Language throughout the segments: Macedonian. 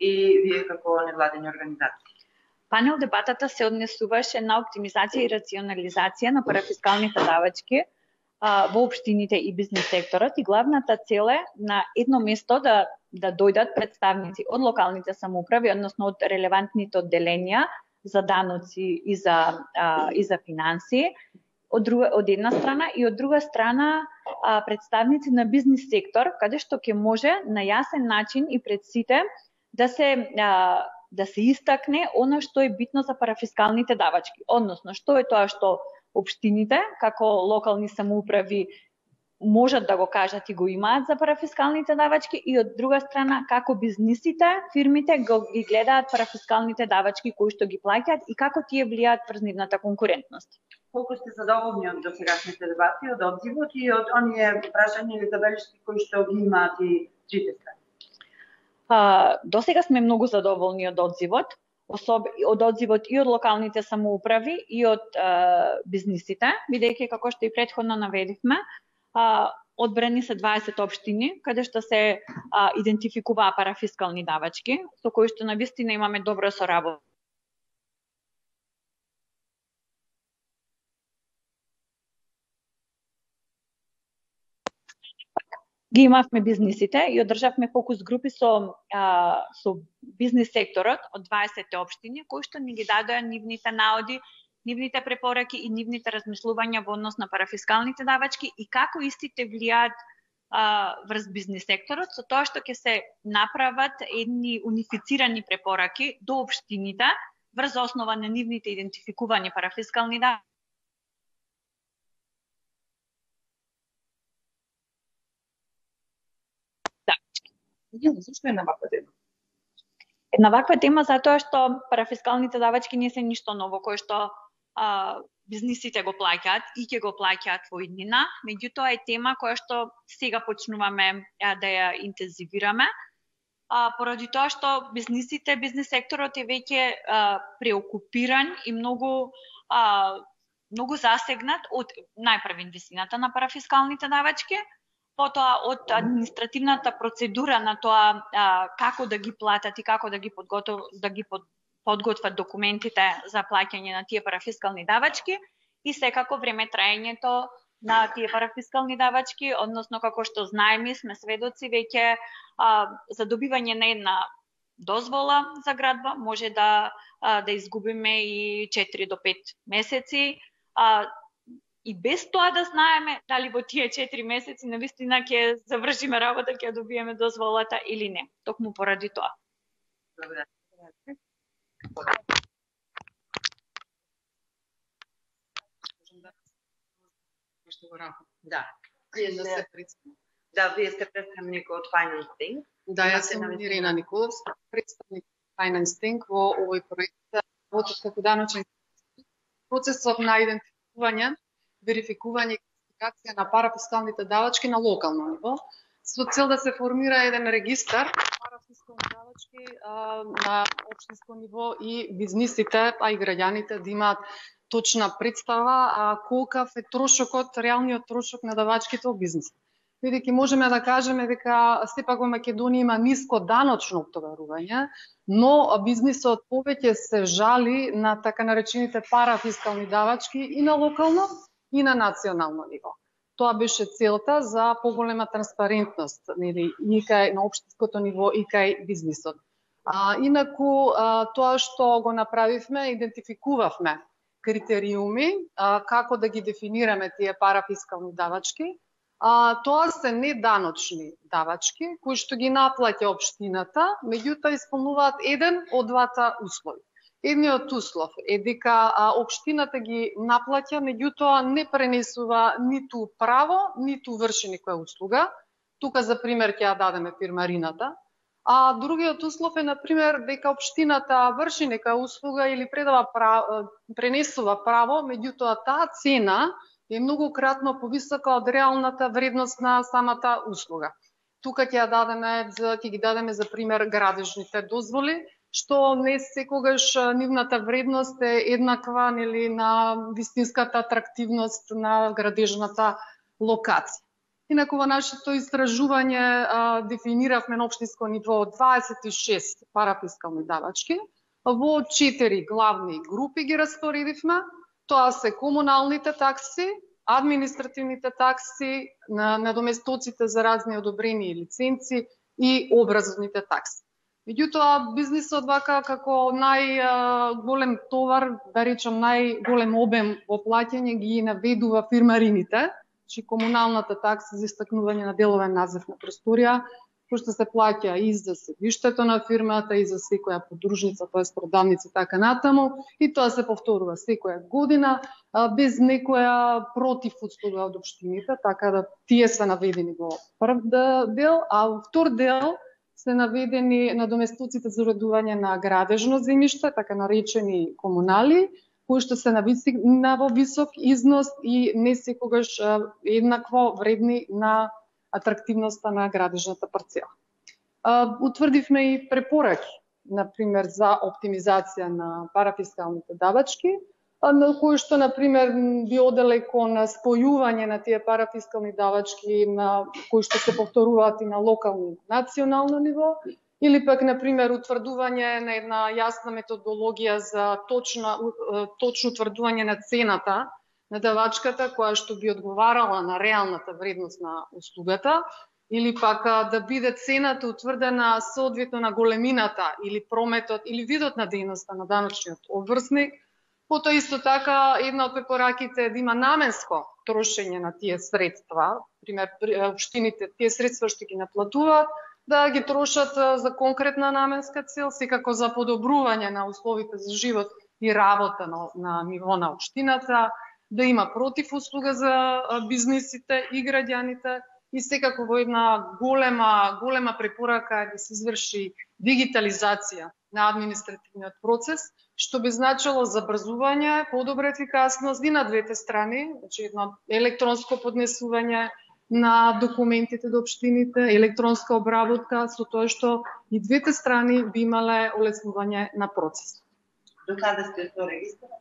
и вие како невладени организации? Панел дебатата се однесуваше на оптимизација и рационализација на парафискалните давачки во општините и бизнес секторот, и главната цел е на едно место да дојдат представници од локалните самоуправи, односно од релевантните одделенија за даноци и за финансии, од една страна, и од друга страна представници на бизнес сектор, каде што ќе може на јасен начин и пред сите да се истакне она што е битно за парафискалните давачки, односно што е тоа што општините како локални самоуправи можат да го кажат и го имаат за парафискалните давачки, и од друга страна како бизнисите, фирмите ги гледаат парафискалните давачки кои што ги плаќаат и како тие влијаат врз нивната конкурентност. Колку сте задоволни од досегашните дебати, од одзивот и од оние прашања или забелешки кои што ги имаат и трите страни? Досега сме многу задоволни од одзивот, од одзивот и од локалните самоуправи и од бизнисите, бидејќи како што и претходно наведивме, одбрани се 20 општини каде што се идентификуваа парафискални давачки, со кои што навистина имаме добра соработа. Ги имавме бизнисите и одржавме фокус групи со бизнис секторот од 20 општини, кои што ни ги дадоа нивните наоди, нивните препораки и нивните размислувања во однос на парафискалните давачки и како истите влијаат врз бизнис секторот, со тоа што ќе се направат едни унифицирани препораки до општините врз основа на нивните идентификувани парафискални давачки. Зашто е на ваква тема? Една ваква тема затоа што парафискалните давачки не се ништо ново, кое што бизнисите го плаќаат и ќе го плаќаат во иднина, меѓутоа е тема која што сега почнуваме да ја интензивираме, поради тоа што бизнисите, бизнес секторот е веќе преокупиран и многу засегнат од најпрвен висината на парафискалните давачки, потоа од административната процедура на тоа како да ги платат и како да ги подготват документите за плаќање на тие парафискални давачки, и секако време траењето на тие парафискални давачки, односно како што знаеме, сме сведоци веќе за добивање на една дозвола за градба може да изгубиме и 4 до 5 месеци. И без тоа да знаеме дали во тие 4 месеци навистина ќе завршиме работа, ќе добиеме дозволата или не. Токму поради тоа. Добре. Да, вие сте представник од Finance Think. Да, јас сум Ирина Николовска, представник Finance Think во овој проект. Работат како даночен процесот на идентификување, верификување и класификација на парафискалните давачки на локално ниво, со цел да се формира еден регистар парафискални давачки на општинско ниво и бизнисите, а и граѓаните да имаат точна представа колкав е трошокот, реалниот трошок на давачките во бизнис. Бидејќи можеме да кажеме дека сепак во Македонија има ниско даночно оптоварување, но бизнисот повеќе се жали на така наречените парафискални давачки и на локално и на национално ниво. Тоа беше целта за поголема транспарентност, нели, и кај на општинското ниво и кај бизнисот. Инаку тоа што го направивме, идентификувавме критериуми како да ги дефинираме тие парафискални давачки. Тоа се неданочни давачки кои што ги наплаќа општината, меѓутоа исполнуваат еден од двата услови. Едниот услов е дека општината ги наплаќа, меѓутоа не пренесува ниту право, ниту врши некоја услуга. Тука за пример ќе ја дадеме фирмарината. А другиот услов е, например, дека општината врши некоја услуга или пренесува право, меѓутоа таа цена е многократно повисока од реалната вредност на самата услуга. Тука ќе ги дадеме за пример градежните дозволи, што не секогаш нивната вредност е еднаква, нели, на вистинската атрактивност на градежната локација. Инаку во нашето истражување дефиниравме на општинско ниво 26 парафискални давачки, во 4 главни групи ги распоредивме. Тоа се комуналните такси, административните такси, надоместоците за разни одобрени лиценци и образовните такси. Меѓутоа, бизнисот вака како најголем товар, да речам најголем обем во плаќање ги наведува фирмарините, чи комуналната такса за истакнување на деловен назив на просторија, пошто се плаќа и за седиштето на фирмата, и за секоја подружница, тоест продавница, така натаму, и тоа се повторува секоја година, без некоја противуслуга од општините, така да тие се наведени во прв дел, а во втор дел се наведени надоместоците за уредување на градежно земјиште, така наречени комунали, кои што се на висок износ и не секогаш еднакво вредни на атрактивноста на градежната парцела. Утврдивме и препораки, например, за оптимизација на парафискалните давачки, на кои што, например, би оделе кон спојување на тие парафискални давачки, на кои што се повторуваат и на локално и национално ниво, или пак, например, утврдување на една јасна методологија за точно утврдување на цената на давачката, која што би одговарала на реалната вредност на услугата, или пак да биде цената утврдена соодветно на големината или прометот или видот на дејноста на даночниот обврсник. Потоа исто така една од препораките е да има наменско трошење на тие средства, пример општините тие средства што ги наплатуваат да ги трошат за конкретна наменска цел, секако за подобрување на условите за живот и работа на ниво на општината, да има противуслуга за бизнисите и граѓаните и секако во една голема препорака е да се изврши дигитализација на административниот процес, што би значило забрзување, подобра ефикасност и на двете страни, значи едно електронско поднесување на документите до општините, електронска обработка, со тоа што и двете страни би имале олеснување на процес. До каде сте со регистарот?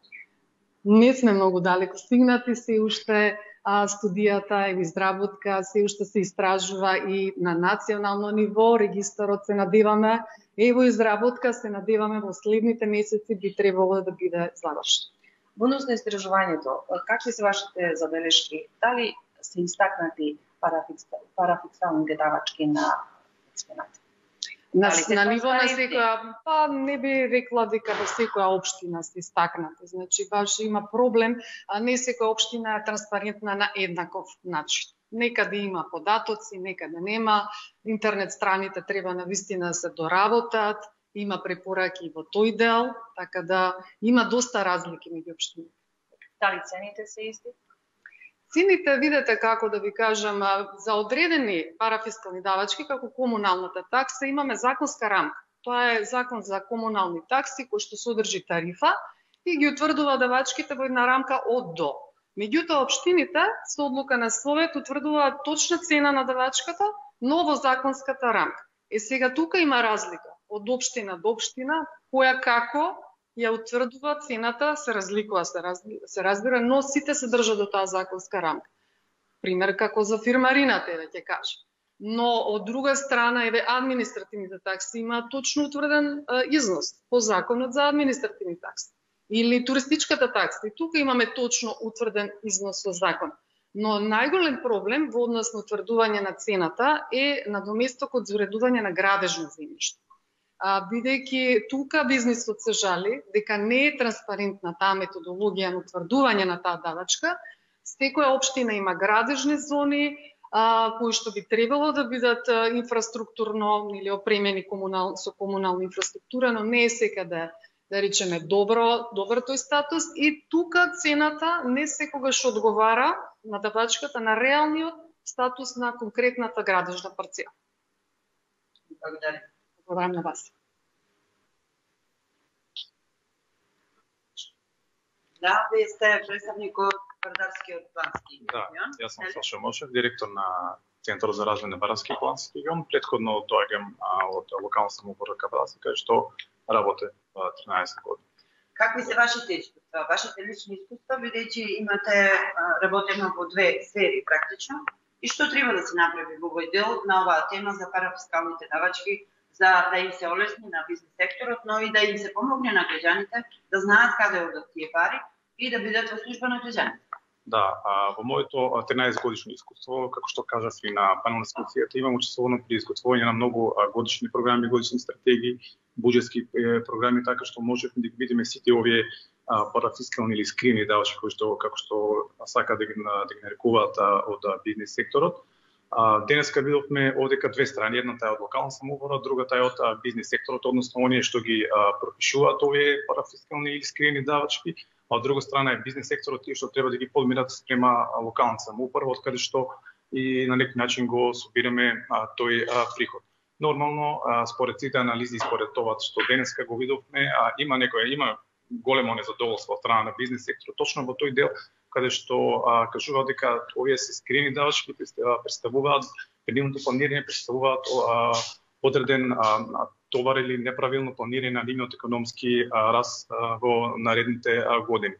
Не сме многу далеко стигнати, се уште студијата и изработка, се уште се истражува и на национално ниво, регистарот се надеваме, во изработка се надеваме во следните месеци би требало да биде завршен. Во однос на истражувањето, какви се вашите забелешки? Дали се истакнати парафискалните давачки на општината? На ниво на секоја, не би рекла дека во секоја општина се истакнати. Значи, баш има проблем, не секоја општина е транспарентна на еднаков начин. Некаде има податоци, некаде нема, интернет страните треба навистина да се доработат, има препораки во тој дел, така да има доста разлики меѓу општините. Дали цените се исти? Цените, видете како да ви кажам, за одредени парафискални давачки, како комуналната такса, имаме законска рамка. Тоа е закон за комунални такси, кој што содржи тарифа и ги утврдува давачките во една рамка од до. Меѓутоа, општините со одлука на Совет утврдуваат точна цена на давачката, но во законската рамка. Сега тука има разлика од општина до општина, која како ја утврдува цената, се разликува, се разбира, но сите се држат до таа законска рамка. Пример како за фирмарината, ќе кажам. Но од друга страна, административните такси имаат точно утврден износ по законот за административни такси. Или туристичката такса. И тука имаме точно утврден износ во закон. Но најголем проблем во однос на утврдување на цената е надоместокот за уредување на градежно земјиште. Бидејќи тука бизнисот се жали дека не е транспарентна таа методологија на утврдување на таа давачка, секоја општина има градежни зони кои што би требало да бидат инфраструктурно или опремени со комунална инфраструктура, но не е секаде, да речеме, добар тој статус и тука цената не секогаш одговара на давачката на реалниот статус на конкретната градежна парцела. Благодарам. Благодарам на вас. Да, вие сте представник од Вардарскиот плански регион. Да, јас сум Саша Мошев, директор на Центарот за развој на Вардарски плански регион. Претходно доаѓам од локална самоуправа Капеласи, кај што работе 13 години. Какви се вашите искуства? Вашите лични искуства, бидејќи имате работено во две сфери практично, И што треба да се направи во овој дел на оваа тема за парафискалните давачки, за да им се олесни на бизнес секторот, но и да им се помогне на граѓаните да знаат каде одат тие пари и да бидат во служба на граѓаните. Да, во моето 13 годишно искуство, како што кажав и на панел дискусијата, имам учествувано при изготвување на многу годишни програми, годишни стратегии, буџетски програми, така што можевме да ги видиме сите овие парафискални или скрини давачки кои што како што сака да ги нарекуваат од бизнес секторот. Денеска видовме одека две страни, едната е од локална самоуправа, другата е од бизнес секторот, односно оние што ги пропишуваат овие парафискални или скрини давачки, а од друга страна е бизнес секторот тие што треба да ги подмират спрема локална самоуправа, од каде што и на некој начин го собираме тој приход. Нормално, според сите анализи, според тоа што денеска го видовме, има големо незадоволство од страна на бизнес секторот точно во тој дел каде што кажува дека овие се скрини давачки представуваат предимното планирање, представуваат одреден товар или неправилно планирање на нивниот економски раст во наредните години.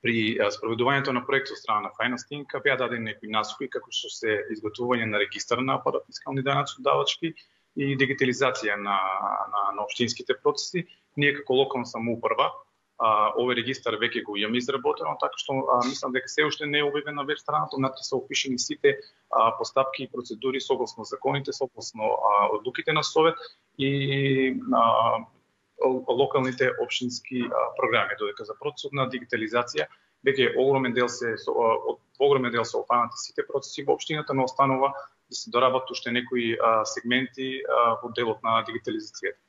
При спроведувањето на проектот од страна на Finance беа дадени некои насоки како што се изготвување на регистар на парафискални данъчни давачки и дигитализација на општинските процеси. Ние како локална самоуправа овој регистар веќе го имаме изработено, така што мислам дека се уште не е објавен на веб страната, внатре се опишени сите постапки и процедури согласно законите, согласно одлуките на Совет и локалните општински програми, додека за процесот на дигитализација веќе огромен дел се опфанати сите процеси во општината, но останува да се доработат уште некои сегменти во делот на дигитализацијата.